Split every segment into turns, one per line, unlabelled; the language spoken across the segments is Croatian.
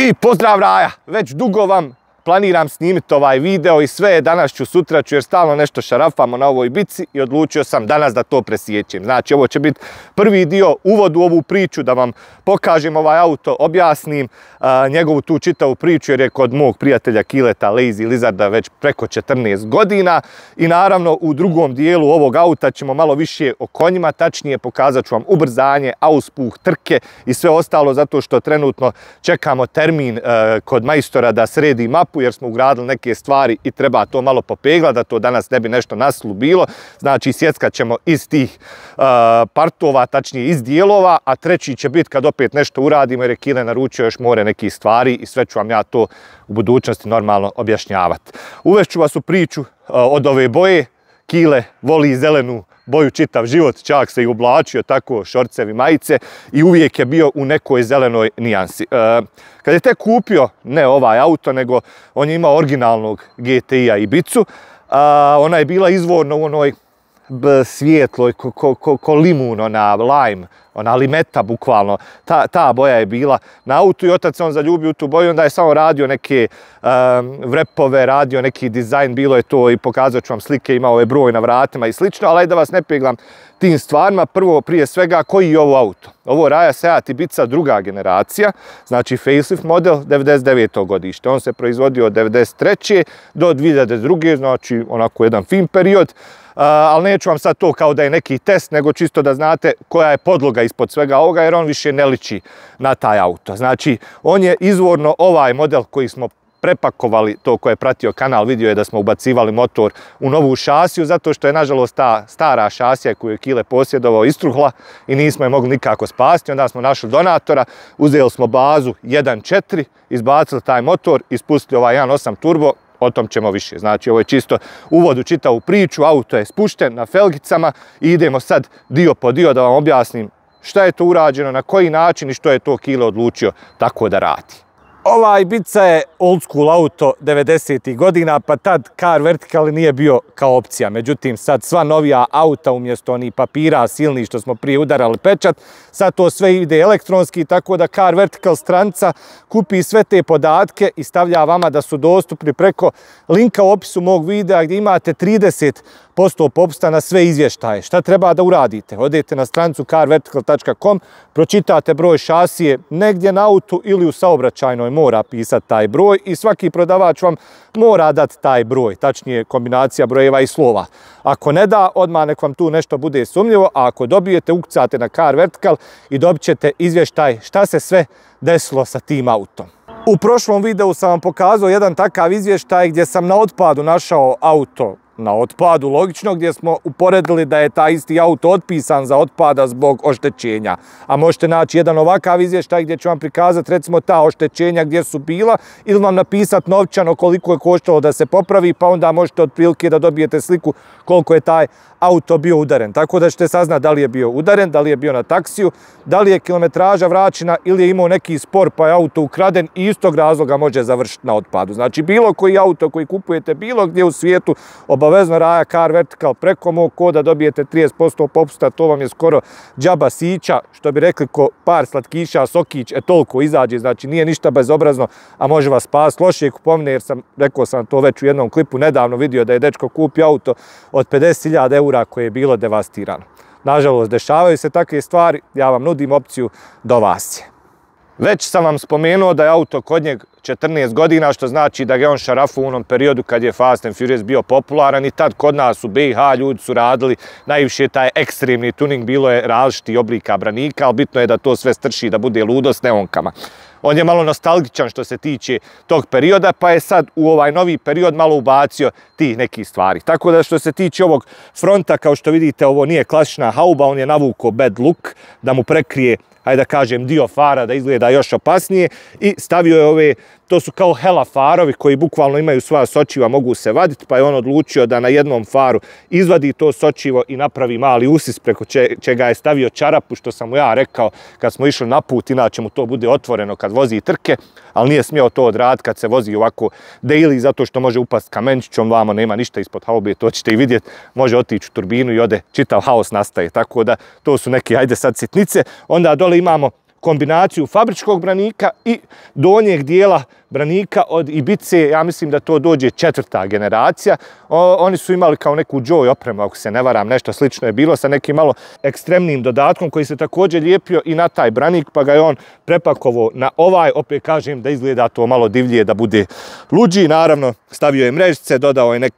I pozdrav Raja, već dugo vam planiram snimiti ovaj video i sve, danas ću, sutra ću jer stalno nešto šarafamo na ovoj bici i odlučio sam danas da to presjećem. Znači ovo će biti prvi dio, uvod u ovu priču da vam pokažem ovaj auto, objasnim njegovu tu čitavu priču jer je kod mog prijatelja Kileta Lazy Lizarda već preko 14 godina i naravno u drugom dijelu ovog auta ćemo malo više o konjima, tačnije pokazat ću vam ubrzanje, auspuh, trke i sve ostalo zato što trenutno čekamo termin kod majstora da sredi mapu jer smo ugradili neke stvari i treba to malo popeglati, da to danas ne bi nešto naslu bilo. Znači sjeckat ćemo iz tih partova, tačnije iz dijelova, a treći će biti kad opet nešto uradimo jer je Kile naručio još more nekih stvari i sve ću vam ja to u budućnosti normalno objašnjavati. Uvešću vas u priču od ove boje. Kile voli zelenu boju čitav život, čak se i oblačio tako, šorcevi, majice i uvijek je bio u nekoj zelenoj nijansi. Kad je tek kupio, ne ovaj auto, nego on je imao originalnog GTI-a Ibicu, ona je bila izvorno u onoj svijetloj, ko limun, ona lime, ona limeta bukvalno, ta boja je bila na autu i otac se on zaljubio u tu boju, onda je samo radio neke vrepove, radio neki dizajn, bilo je to i pokazat ću vam slike, imao je broj na vratima i slično, ali da vas ne peglam tim stvarima, prvo prije svega koji je ovo auto. Ovo Raja Seat Ibiza druga generacija, znači facelift model 99. godište, on se proizvodio od 93. do 2002. znači onako jedan fin period. Ali neću vam sad to kao da je neki test, nego čisto da znate koja je podloga ispod svega ovoga, jer on više ne liči na taj auto. Znači, on je izvorno ovaj model koji smo prepakovali, to ko je pratio kanal vidio je da smo ubacivali motor u novu šasiju, zato što je nažalost ta stara šasija koju je Kile posjedovao istruhla i nismo je mogli nikako spasti. Onda smo našli donatora, uzeli smo bazu 1.4, izbacili taj motor i spustili ovaj 1.8 turbo. O tom ćemo više. Znači, ovo je čisto uvod u čitavu priču, auto je spušten na felgicama i idemo sad dio po dio da vam objasnim šta je to urađeno, na koji način i što je to Kile odlučio tako da radi. Ova Ibiza je old school auto 90. godina, pa tad car vertical nije bio kao opcija. Međutim, sad sva novija auta umjesto onih papira silnih što smo prije udarali pečat, sad to sve ide elektronski, tako da car vertical stranca kupi sve te podatke i stavlja vama da su dostupni preko linka u opisu mog videa gdje imate 30% popusta na sve izvještaje. Šta treba da uradite? Odete na strancu carvertical.com, pročitate broj šasije negdje na autu ili u saobraćajnoj mora pisati taj broj i svaki prodavač vam mora dati taj broj, tačnije kombinacija brojeva i slova. Ako ne da, odmah nek vam tu nešto bude sumnjivo, a ako dobijete, ukucate na Car Vertical i dobit ćete izvještaj šta se sve desilo sa tim autom. U prošlom videu sam vam pokazao jedan takav izvještaj gdje sam na otpadu našao auto na otpadu, logično, gdje smo uporedili da je taj isti auto otpisan za otpada zbog oštećenja. A možete naći jedan ovakav izvještaj gdje ću vam prikazati recimo ta oštećenja gdje su bila ili vam napisati novčano koliko je koštalo da se popravi, pa onda možete otprilike da dobijete sliku koliko je taj auto bio udaren. Tako da ćete saznati da li je bio udaren, da li je bio na taksiju, da li je kilometraža vraćena ili je imao neki spor pa je auto ukraden i istog razloga može završiti na otpadu. Znači bilo koji auto koji kupujete bilo gdje u svijetu, obavezno Raja Car Vertical preko mog koda dobijete 30% popusta, to vam je skoro džaba sića, što bi rekli ko par slatkiša, sokić, toliko izađe, znači nije ništa bezobrazno, a može vas spasti lošije kupovine, jer rekao sam to već u jednom klipu nedavno vidio da je dečko kupio auto od 50.000 eura koje je bilo devastirano. Nažalost, dešavaju se takve stvari, ja vam nudim opciju do vas je. Već sam vam spomenuo da je auto kod njeg 14 godina, što znači da ga je on šarafu u onom periodu kad je Fast and Furious bio popularan i tad kod nas u BiH ljudi su radili najviše taj ekstremni tuning, bilo je različitih oblika branika, ali bitno je da to sve strši, da bude ludo s neonkama. On je malo nostalgičan što se tiče tog perioda, pa je sad u ovaj novi period malo ubacio tih nekih stvari. Tako da što se tiče ovog fronta, kao što vidite, ovo nije klasična hauba, on je navukao bad look da mu prekrije, hajde da kažem, dio fara da izgleda još opasnije i stavio je ove, to su kao hela farovi koji bukvalno imaju svoja sočiva, mogu se vaditi, pa je on odlučio da na jednom faru izvadi to sočivo i napravi mali usis preko čega je stavio čarapu, što sam mu ja rekao kad smo išli na put, inače mu to bude otvoreno kad vozi trke, ali nije smio to odraditi kad se vozi ovako daily, zato što može upast kamenčićom, vamo nema ništa ispod haube, to ćete i vidjeti, može otići u turbinu i ode, čitav haos nastaje, tako da to su neke, ajde sad, sitnice. Onda dole imamo kombinaciju fabričkog branika i donjeg dijela branika od Ibice, ja mislim da to dođe 4. generacija. Oni su imali kao neku Joy opremu, ako se ne varam, nešto slično je bilo sa nekim malo ekstremnim dodatkom koji se također lijepio i na taj branik, pa ga je on prepakovao na ovaj, opet kažem da izgleda to malo divlje, da bude luđi. Naravno, stavio je mrežice, dodao je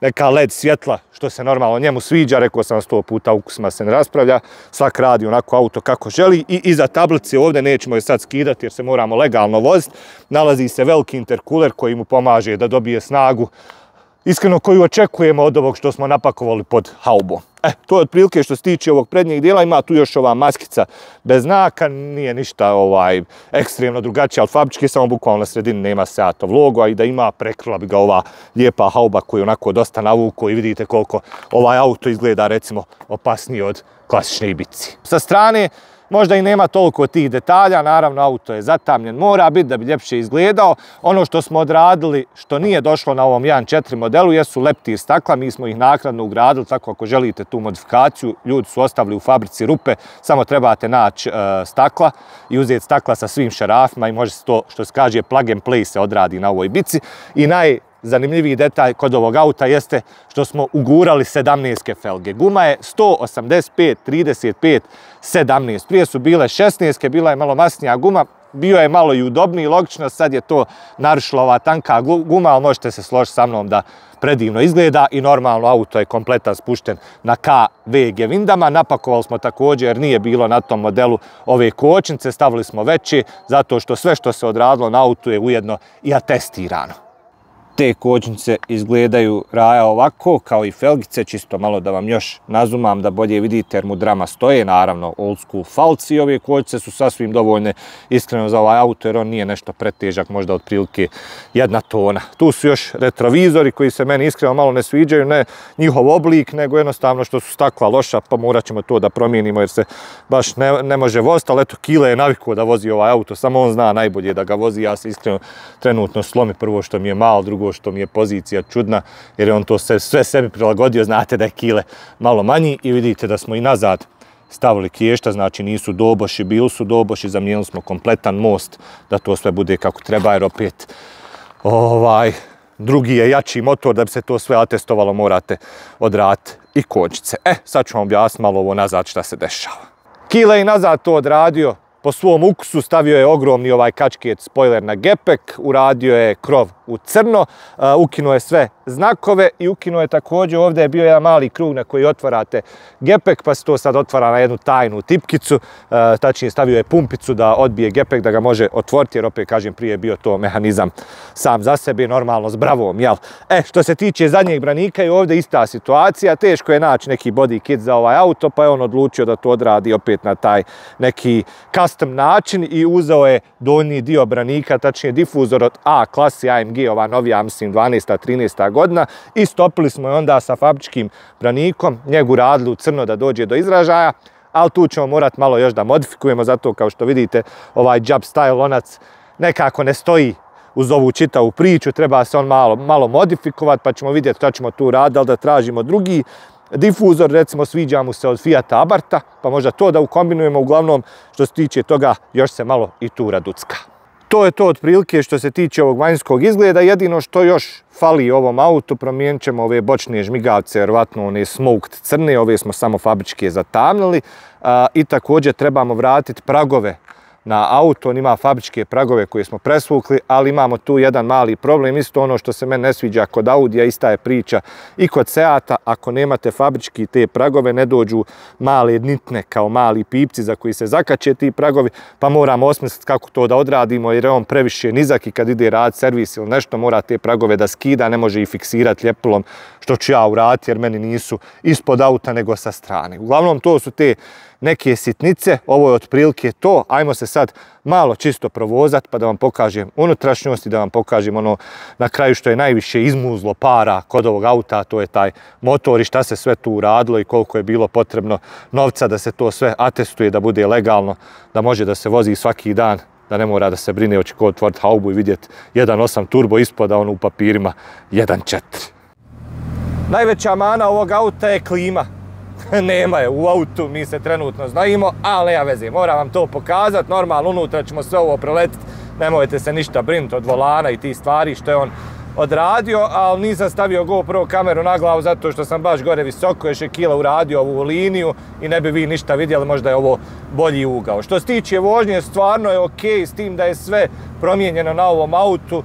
neka LED svjetla, što se normalno njemu sviđa, rekao sam 100 puta, ukusima se ne raspravlja, svak radi onako auto kako želi. I iza tablice ovdje, nećemo je sad skidati jer se moramo legalno voziti, nalazi se veliki interkuler koji mu pomaže da dobije snagu, iskreno koju očekujemo od ovog što smo napakovali pod haubom. To je otprilike što se tiče ovog prednjeg dijela. Ima tu još ova maskica bez znaka, nije ništa ekstremno drugačije, ali fabrički, samo bukvalno na sredini nema Seatov logo, a i da ima, prekrila bi ga ova lijepa hauba koju onako dosta navuko i vidite koliko ovaj auto izgleda recimo opasnije od klasične Ibice. Sa strane možda i nema toliko tih detalja, naravno auto je zatamljen, mora biti da bi ljepše izgledao. Ono što smo odradili, što nije došlo na ovom 1.4 modelu, jesu leptir stakla, mi smo ih naknadno ugradili, tako ako želite tu modifikaciju, ljudi su ostavili u fabrici rupe, samo trebate naći stakla i uzeti stakla sa svim šarafima i može se to, što se kaže, plug and play se odradi na ovoj Ibici. I najzanimljiviji detalj kod ovog auta jeste što smo ugurali 17 felge. Guma je 185, 35, 17. Prije su bile 16, bila je malo masnija guma, bio je malo i udobniji, logično, sad je to narušila ova tanka guma, ali možete se složiti sa mnom da predivno izgleda i normalno auto je kompletan spušten na KVG vindama. Napakovali smo također, jer nije bilo na tom modelu ove kočnice, stavili smo veće, zato što sve što se odradilo na autu je ujedno i atestirano. Te kočnice izgledaju, Raja, ovako, kao i felgice, čisto malo da vam još nazumam da bolje vidite jer mu drama stoje, naravno old school falci. Ove kočnice su sasvim dovoljne iskreno za ovaj auto jer on nije nešto pretežak, možda otprilike 1 tona. Tu su još retrovizori koji se meni iskreno malo ne sviđaju, ne njihov oblik, nego jednostavno što su stakla loša, pa morat ćemo to da promijenimo jer se baš ne može voziti, ali eto, Kile je navikao da vozi ovaj auto, samo on zna najbolje da ga vozi. Ja se iskreno trenutno slomi, prvo što mi je malo, drugo što mi je pozicija čudna, jer je on to sve sebi prilagodio. Znate da je Kile malo manji i vidite da smo i nazad stavili kješta, znači nisu doboši, bili su doboši, zamijenili smo kompletan most da to sve bude kako treba, jer opet drugi je jači motor, da bi se to sve atestovalo morate odraditi i kočnice. Sad ću vam objasniti malo ovo nazad šta se dešava. Kile je nazad to odradio po svom ukusu, stavio je ogromni ovaj kačket spoiler na gepek, uradio je krov u crno, ukinuo je sve znakove i ukinuo je također, ovdje je bio jedan mali krug na koji otvarate gepek, pa se to sad otvara na jednu tajnu tipkicu, tačnije stavio je pumpicu da odbije gepek, da ga može otvoriti, jer opet kažem prije je bio to mehanizam sam za sebe, normalno s bravom, jel? Što se tiče zadnjeg branika i ovdje ista situacija, teško je naći neki body kit za ovaj auto, pa je on odlučio da to odradi opet na taj neki custom način i uzeo je donji dio branika, tačnije difuzor od A klasi AMG, ova novija, mislim 12. 13. godina, i stopili smo je onda sa fabričkim branikom, njegu radili u crno da dođe do izražaja, ali tu ćemo morati malo još da modifikujemo, zato kao što vidite ovaj Jab style lonac nekako ne stoji uz ovu čitavu priču, treba se on malo modifikovati, pa ćemo vidjeti šta ćemo tu raditi, ali da tražimo drugi difuzor, recimo sviđa mu se od Fiata Abarta, pa možda to da ukombinujemo. Uglavnom, što se tiče toga, još se malo i tu raducka. To je to otprilike što se tiče ovog vanjskog izgleda. Jedino što još fali ovom autu, promijenit ćemo ove bočne žmigavce, vjerovatno one smoked crne, ove smo samo fabričke zatamnili, i također trebamo vratiti pragove na auto. On ima fabričke pragove koje smo presvukli, ali imamo tu jedan mali problem, isto ono što se meni ne sviđa kod Audija, ista je priča i kod Seata. Ako nemate fabrički te pragove, ne dođu male nitne kao mali pipci za koji se zakače ti pragovi, pa moramo osmisliti kako to da odradimo, jer je on previše nizak i kad ide rad servis ili nešto mora te pragove da skida, ne može ih fiksirati ljepilom, što ću ja uraditi jer meni nisu ispod auta nego sa strane. Uglavnom, to su te neke sitnice, ovo je otprilike to. Ajmo se sad malo čisto provozati pa da vam pokažem unutrašnjost i da vam pokažem ono na kraju što je najviše izmuzlo para kod ovog auta, to je taj motor i šta se sve tu uradilo i koliko je bilo potrebno novca da se to sve atestuje, da bude legalno, da može da se vozi svaki dan, da ne mora da se brine hoće ko otvoriti haubu i vidjeti 1.8 turbo ispod, a ono u papirima 1.4. Najveća mana ovog auta je klima. nema je u autu, mi se trenutno znajimo, ali nema veze, moram vam to pokazati, normalno unutra ćemo sve ovo preletiti, nemojte se ništa brinuti od volana i tih stvari što je on odradio, ali nisam stavio GoPro kameru na glavu zato što sam baš gore visoko, još je Kila uradio ovu liniju i ne bi vi ništa vidjeli, možda je ovo bolji ugao. Što se tiče vožnje, stvarno je ok, s tim da je sve promijenjeno na ovom autu,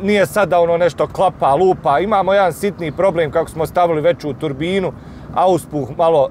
nije sada ono nešto klapa, lupa, imamo jedan sitni problem kako smo stavili veću turbinu, auspuh malo,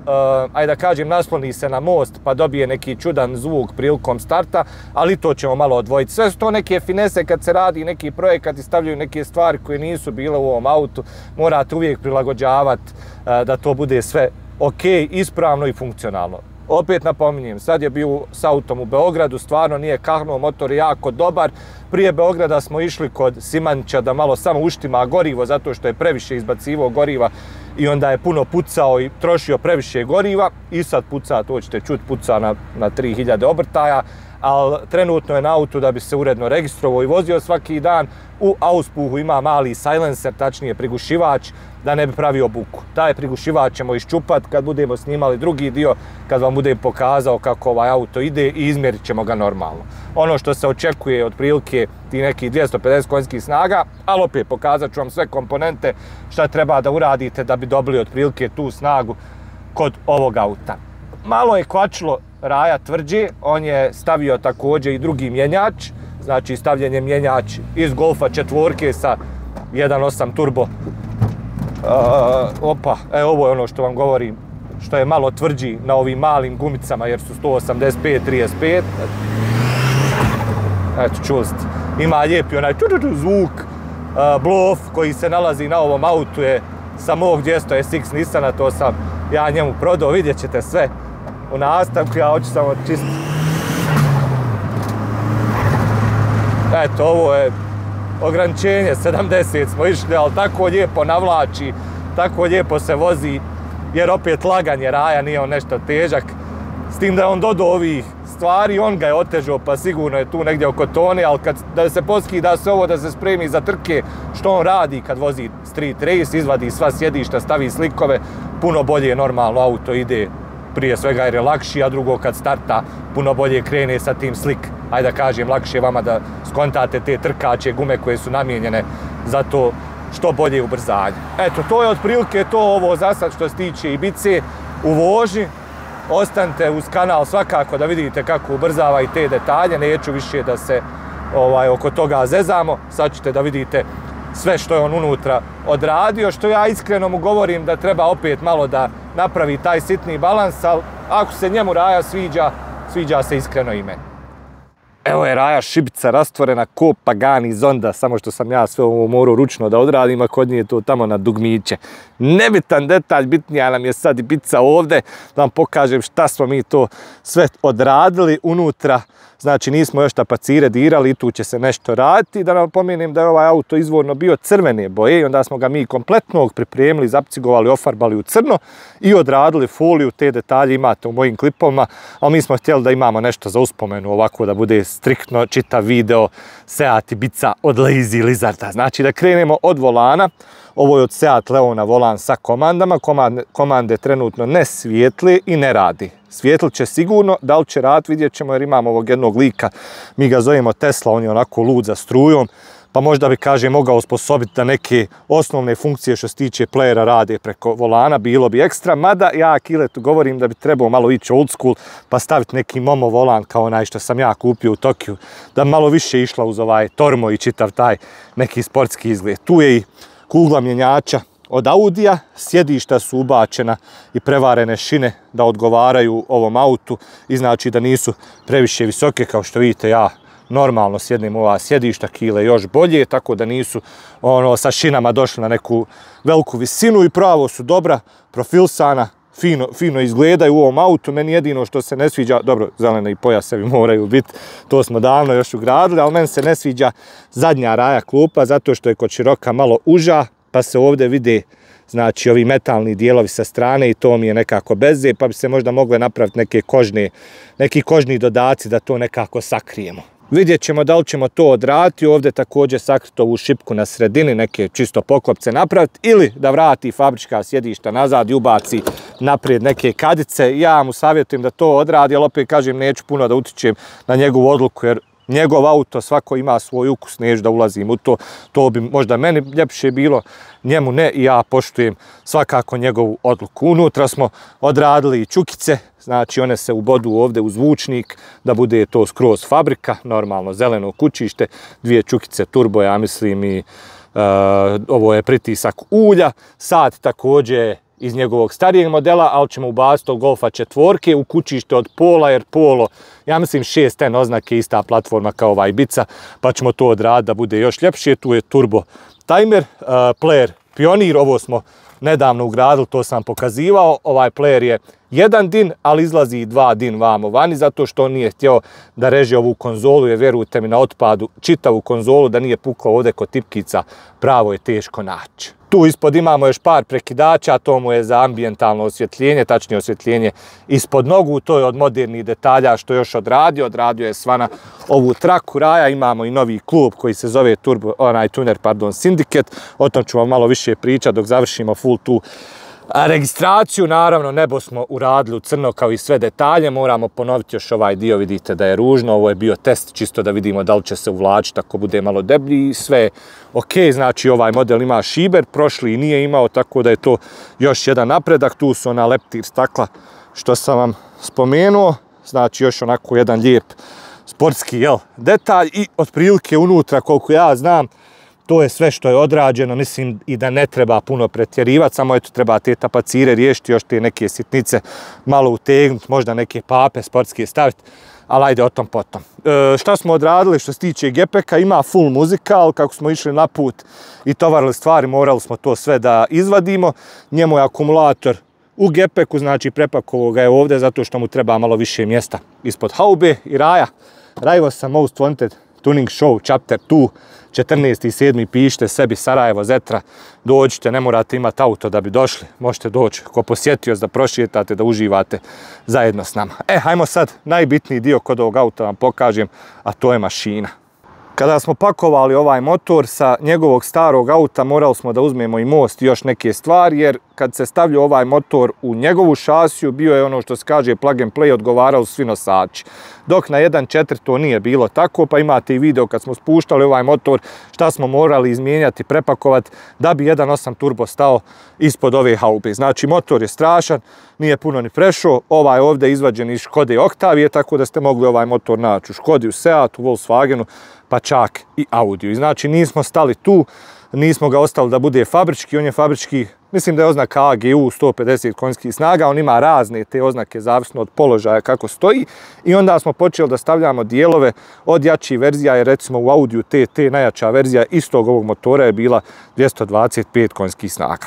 ajde da kažem, nasloni se na most pa dobije neki čudan zvuk prilikom starta, ali to ćemo malo odvojiti. Sve su to neke finese kad se radi neki projekat i stavljaju neke stvari koje nisu bile u ovom autu, morate uvijek prilagođavati da to bude sve ok, ispravno i funkcionalno. Opet napominjem, sad je bio s autom u Beogradu, stvarno nije kahnuo, motor je jako dobar. Prije Beograda smo išli kod Simanića da malo samo uštima gorivo zato što je previše izbacivao goriva i onda je puno pucao i trošio previše goriva i sad puca, to ćete čuti, puca na 3000 obrtaja, ali trenutno je na autu da bi se uredno registrovao i vozio svaki dan. U auspuhu ima mali silencer, tačnije prigušivač, da ne bi pravio buku. Taj prigušivač ćemo iščupati kad budemo snimali drugi dio, kad vam budem pokazao kako ovaj auto ide i izmjerit ćemo ga normalno. Ono što se očekuje otprilike ti nekih 250 konjskih snaga, ali opet pokazat ću vam sve komponente šta treba da uradite da bi dobili otprilike tu snagu kod ovog auta. Malo je kvačilo Raja tvrđe, on je stavio također i drugi mjenjač, znači stavljen je mjenjač iz Golfa 4 sa 1.8 turbo. Ovo je ono što vam govorim, što je malo tvrđi na ovim malim gumicama jer su 185/35. Eto, čuli ste. Ima lijepi onaj zvuk. Blof koji se nalazi na ovom autu je sa mog 200 SX Nissana, to sam ja njemu prodao, vidjet ćete sve u nastavku, ja hoću samo čisto. Eto, ovo je ograničenje, 70 smo išli, ali tako lijepo navlači, tako lijepo se vozi, jer opet lagan je Raja, nije on nešto težak. S tim da je on dodao ovih stvari, on ga je otežao, pa sigurno je tu negdje oko tone, ali da se poskida se ovo, da se spremi za trke, što on radi kad vozi street race, izvadi sva sjedišta, stavi slikove, puno bolje normalno auto ide, prije svega jer je lakši, a drugo kad starta puno bolje krene sa tim slik. Ajde da kažem, lakše vama da skontate te trkače gume koje su namijenjene za to što bolje ubrzanje. Eto, to je otprilike to ovo za sad što se tiče Ibize u vožnji. Ostanite uz kanal svakako da vidite kako ubrzava i te detalje, neću više da se oko toga zezamo, sad ćete da vidite sve što je on unutra odradio, što ja iskreno mu govorim da treba opet malo da napravi taj sitni balans, ali ako se njemu Raja sviđa, sviđa se iskreno i meni. Evo je Raja šibica rastvorena ko Pagani Zonda, samo što sam ja sve ovo morao ručno da odradim, a kod nje je to tamo na dugmiće. Nebitan detalj, bitnija nam je sad Ibiza ovdje, da vam pokažem šta smo mi to sve odradili unutra. Znači nismo još tapacire dirali i tu će se nešto raditi. Da napomenem da je ovaj auto izvorno bio crvene boje i onda smo ga mi kompletno pripremili, zapcigovali, ofarbali u crno i odradili foliju. Te detalje imate u mojim klipovima, ali mi smo htjeli da imamo nešto za uspomenu, ovako da bude striktno čitav video Seat Ibiza od Lazy Lizarda. Znači da krenemo od volana. Ovo je od Seat Leona volan sa komandama. Komande trenutno ne svijetli i ne radi. Svijetlit će sigurno, da li će rad vidjet ćemo jer imamo ovog jednog lika. Mi ga zovemo Tesla, on je onako lud za strujom. Pa možda bi, kažem, mogao osposobiti da neke osnovne funkcije što se tiče playera rade preko volana, bilo bi ekstra. Mada ja Kiletu govorim da bi trebao malo ići old school pa staviti neki Momo volan kao onaj što sam ja kupio u Tokiju. Da malo više išla uz ovaj Tormo i čitav taj neki sportski izgled. Tu je i kugla mjenjača od Audija, sjedišta su ubačena i prevarene šine da odgovaraju ovom autu i znači da nisu previše visoke, kao što vidite ja normalno sjednem ova sjedišta, Kile još bolje, tako da nisu sa šinama došli na neku veliku visinu i pravo su dobra, profilsana, fino izgledaju u ovom autu. Meni jedino što se ne sviđa, dobro, zelene i pojasevi moraju biti, to smo davno još ugradili, ali meni se ne sviđa zadnja Raja klupa zato što je kod široka malo uža, pa se ovdje vide znači ovi metalni dijelovi sa strane i to mi je nekako beze, pa bi se možda mogle napraviti neki kožni dodaci da to nekako sakrijemo. Vidjet ćemo da li ćemo to odraditi, ovdje također sakriti ovu šipku na sredini, neke čisto poklopce napraviti, ili da vrati fabrička sjedišta nazad i ubaci naprijed neke kadice. Ja mu savjetujem da to odradi, ali opet kažem neću puno da utičem na njegovu odluku, jer njegov auto, svako ima svoj ukus, neću da ulazim u to. To bi možda meni ljepše bilo, njemu ne, i ja poštujem svakako njegovu odluku. Unutra smo odradili i čukice, znači one se ubodu ovdje u zvučnik, da bude to skroz fabrika, normalno zeleno kućište, 2 čukice turbo, ja mislim, i ovo je pritisak ulja, sat također iz njegovog starijeg modela, ali ćemo ubaciti od Golfa 4 u kućište od Pola, jer Polo, ja mislim 6N oznake, ista platforma kao ova Ibiza, pa ćemo to odraditi da bude još ljepše. Tu je turbo timer, player Pionir, ovo smo nedavno ugradili, to sam pokazivao. Ovaj player je 1 din, ali izlazi i 2 din vamo vani, zato što on nije htio da reže ovu konzolu, jer vjerujte mi na otpadu čitavu konzolu, da nije pukao ovdje kod tipkica, pravo je teško naći. Tu ispod imamo još par prekidača, to mu je za ambijentalno osvjetljenje, tačnije osvjetljenje ispod nogu, to je od modernih detalja što još odradio je svana ovu traku raja. Imamo i novi klub koji se zove Tuner Syndicate, o tom ću vam malo više pričati dok završimo full tu registraciju. Naravno, nebo smo uradili u crno kao i sve detalje, moramo ponoviti još ovaj dio, vidite da je ružno, ovo je bio test čisto da vidimo da li će se uvlačiti ako bude malo deblji i sve ok, znači ovaj model ima šiber, prošli nije imao, tako da je to još jedan napredak. Tu su ona leptir stakla što sam vam spomenuo, znači još onako jedan lijep sportski detalj i otprilike unutra koliko ja znam to je sve što je odrađeno, mislim i da ne treba puno pretjerivati, samo eto treba te tapacire riješiti, još te neke sitnice malo utegnuti, možda neke pape sportske staviti, ali ajde o tom potom. Šta smo odradili što se tiče gepeka, ima full muzika, ali kako smo išli na put i tovarili stvari, morali smo to sve da izvadimo. Njemu je akumulator u gepeku, znači prepakovao ga je ovdje zato što mu treba malo više mjesta ispod haube i raja. Raivosa Most Wanted Tuning Show Chapter 2, 14.7. pišite sebi Sarajevo, Zetra, dođite, ne morate imati auto da bi došli, možete doći ko posjetioc da prošetate, da uživate zajedno s nama. Hajmo sad najbitniji dio kod ovog auta vam pokažem, a to je mašina. Kada smo pakovali ovaj motor sa njegovog starog auta, morali smo da uzmemo i most i još neke stvari, jer kad se stavljao ovaj motor u njegovu šasiju, bio je ono što se kaže plug and play, odgovarali svi nosači. Dok na 1.4 to nije bilo tako, pa imate i video kad smo spuštali ovaj motor, šta smo morali izmijenjati, prepakovati, da bi 1.8 turbo stao ispod ove haube. Znači motor je strašan, nije puno ni prešao, ovaj ovdje izvađen iz Škode Octavije, tako da ste mogli ovaj motor naći u Škodi, u Seatu, u Volkswagenu, pa čak i Audiju. I znači nismo stali tu, nismo ga ostali da bude fabrički, on je fabrički, mislim da je oznaka AGU 150 konjskih snaga, on ima razne te oznake zavisno od položaja kako stoji i onda smo počeli da stavljamo dijelove od jačih verzija, jer recimo u Audiju TT najjača verzija istog ovog motora je bila 225 konjskih snaga.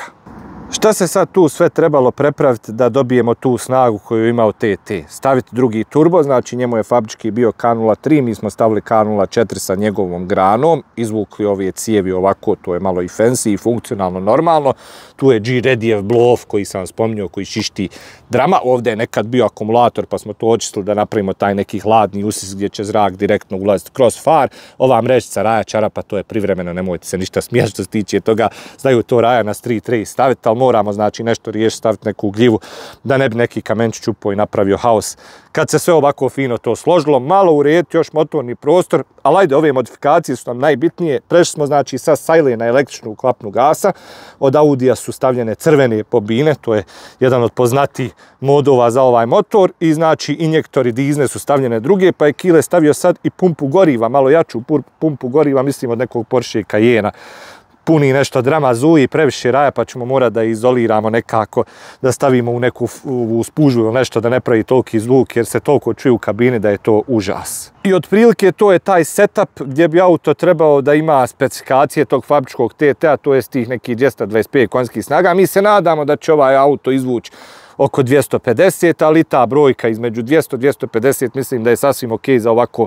Šta se sad tu sve trebalo prepraviti da dobijemo tu snagu koju je imao TT? Staviti drugi turbo, znači njemu je fabrički bio K03, mi smo stavili K04 sa njegovom granom, izvukli ove cijevi ovako, to je malo i fancy i funkcionalno normalno. Tu je G-Redijev blow-off koji sam vam spominjao, koji šišti drama. Ovdje je nekad bio akumulator pa smo to očistili da napravimo taj neki hladni usis gdje će zrak direktno ulaziti kroz far. Ova mrežica Raja čarapa, to je privremeno, nemojte se ništa smijati što se tiče toga, znaju to Raja na street race staviti, ali moramo znači nešto riješiti, staviti neku gljivu da ne bi neki kamenč čupao i napravio haos. Kad se sve ovako fino to složilo, malo urediti još motorni prostor, ali ajde, ove modifikacije su nam najbitnije. Prešli smo znači sa Silene na električnu klapnu gasa, od Audija su stavljene crvene bobine, to je jedan od poznatijih modova za ovaj motor i znači injektori dizne su stavljene druge, pa je Kile stavio sad i pumpu goriva, malo jaču pumpu goriva, mislim od nekog Porsche Cayena. Puni nešto drama zuji, previše raja, pa ćemo morati da izoliramo nekako, da stavimo u neku spužu ili nešto da ne pravi toliki zvuk, jer se toliko čuje u kabini da je to užas. I otprilike to je taj setup gdje bi auto trebao da ima specifikacije tog fabričkog TT-a, to je tih nekih 225 konjskih snaga. Mi se nadamo da će ovaj auto izvući oko 250, ali ta brojka između 200-250 mislim da je sasvim ok za ovako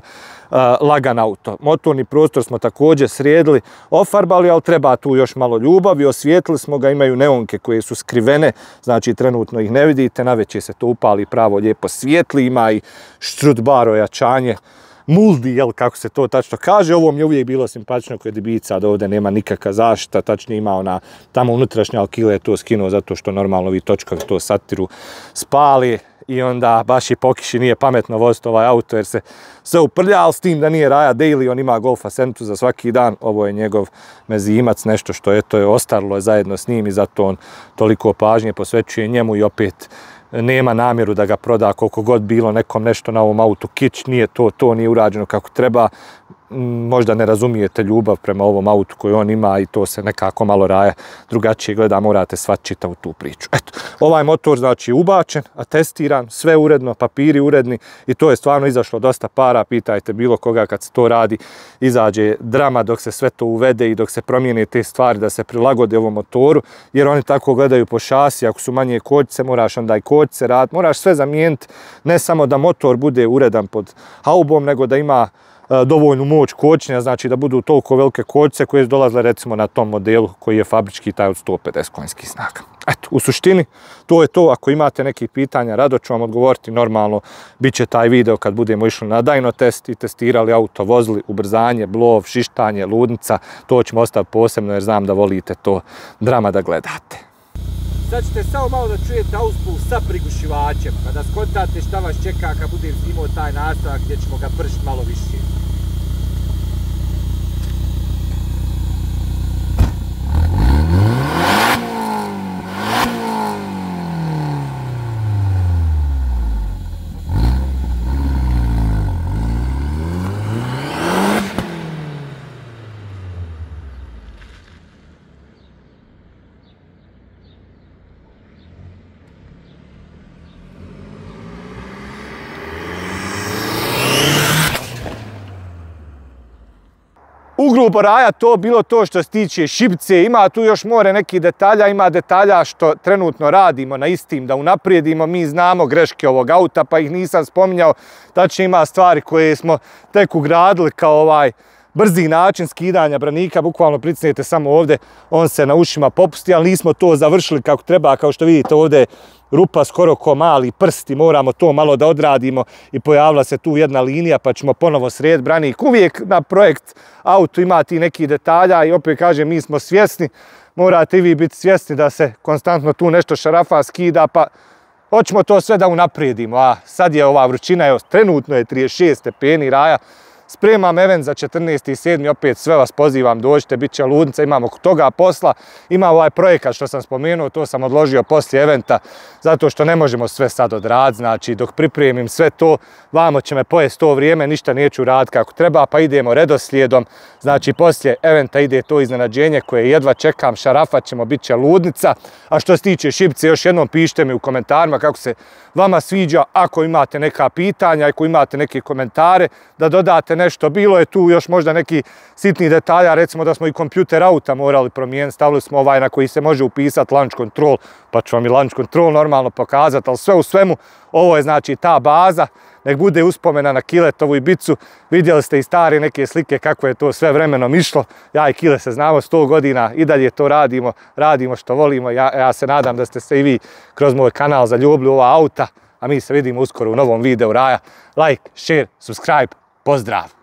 lagan auto. Motorni prostor smo također sredili, ofarbali, ali treba tu još malo ljubavi, osvijetlili smo ga, imaju neonke koje su skrivene, znači trenutno ih ne vidite, navečer se to upali pravo lijepo svijetli, ima i štrut bar ojačanje muldi, jel, kako se to tačno kaže. Ovo mi je uvijek bilo simpatično kod Ibiza, da ovdje nema nikakva zaštita, tačno ima ona tamo unutrašnja Alkile je to skinuo zato što normalno ovi točkovi to satiru spali i onda baš i po kiši nije pametno voziti ovaj auto jer se sve uprlja, ali s tim da nije Raja Daily, on ima Golf Ascentu za svaki dan, ovo je njegov mezimac, nešto što je ostarilo je zajedno s njim i zato on toliko pažnje posvećuje njemu i opet nema namjeru da ga proda koliko god bilo nekom nešto na ovom autu kić, nije to nije urađeno kako treba, možda ne razumijete ljubav prema ovom autu koji on ima i to se nekako malo Raja drugačije gleda, morate shvatiti čitavu tu priču. Eto, ovaj motor znači ubačen, atestiran, sve uredno, papiri uredni i to je stvarno izašlo dosta para, pitajte bilo koga kad se to radi, izađe drama dok se sve to uvede i dok se promijene te stvari da se prilagode ovom motoru, jer oni tako gledaju po šasi, ako su manje kočnice, moraš onda i kočnice raditi, moraš sve zamijeniti, ne samo da motor bude uredan pod haubom, nego da ima dovoljnu moć kočnja, znači da budu toliko velike kočnice koje su dolazile recimo na tom modelu koji je fabrički taj od 150 konjskih snaga. Eto, u suštini to je to. Ako imate neki pitanja, rado ću vam odgovoriti. Normalno, bit će taj video kad budemo išli na dyno test i testirali auto, vozili ubrzanje, blov, šištanje, ludnica. To ćemo ostaviti posebno jer znam da volite to drama da gledate. Sad ćete samo malo da čujete auspuh sa prigušivačem, kada skontate šta vas čeka kad budem snimao taj nastavak gdje ćemo ga pršiti malo više. Ugrubo Raja to bilo to što se tiče šipce, ima tu još more nekih detalja, ima detalja što trenutno radimo na istim da unaprijedimo, mi znamo greške ovog auta pa ih nisam spominjao, tačno ima stvari koje smo tek ugradili kao ovaj brzi način skidanja branika, bukvalno pricnete samo ovdje, on se na ušima popusti, ali nismo to završili kako treba, kao što vidite ovdje rupa skoro ko mali prsti, moramo to malo da odradimo i pojavila se tu jedna linija pa ćemo ponovo srediti branik. Uvijek na projekt auto ima ti neki detalja i opet kažem mi smo svjesni, morate i vi biti svjesni da se konstantno tu nešto šarafa, skida pa hoćemo to sve da unaprijedimo. A sad je ova vrućina, trenutno je 36 stepeni Raja, spremam event za 14.7. opet sve vas pozivam, dođite, bit će ludnica, imamo toga posla. Ima ovaj projekat što sam spomenuo, to sam odložio poslije eventa, zato što ne možemo sve sad odraditi, znači dok pripremim sve to, vamo će me pojesti to vrijeme, ništa neću raditi kako treba, pa idemo redoslijedom, znači poslije eventa ide to iznenađenje koje jedva čekam, šarafat ćemo, bit će ludnica, a što se tiče šipce, još jednom pišite mi u komentarima kako se vama sviđa, ako imate neka pitanja, ako imate neke komentare, da dodate nešto. Bilo je tu još možda neki sitni detalja, recimo da smo i kompjuter auta morali promijeniti, stavili smo ovaj na koji se može upisati launch control, pa ću vam i launch control normalno pokazati, ali sve u svemu, ovo je znači ta baza, nek bude uspomena na Kiletovu Ibicu, vidjeli ste i stare neke slike kako je to sve vremenom išlo, ja i Kile se znamo 100 godina, i dalje to radimo što volimo, ja se nadam da ste se i vi kroz moj kanal zaljubili u ova auta, a mi se vidimo uskoro u novom videu Raja. Like, share, subscribe, pozdrav!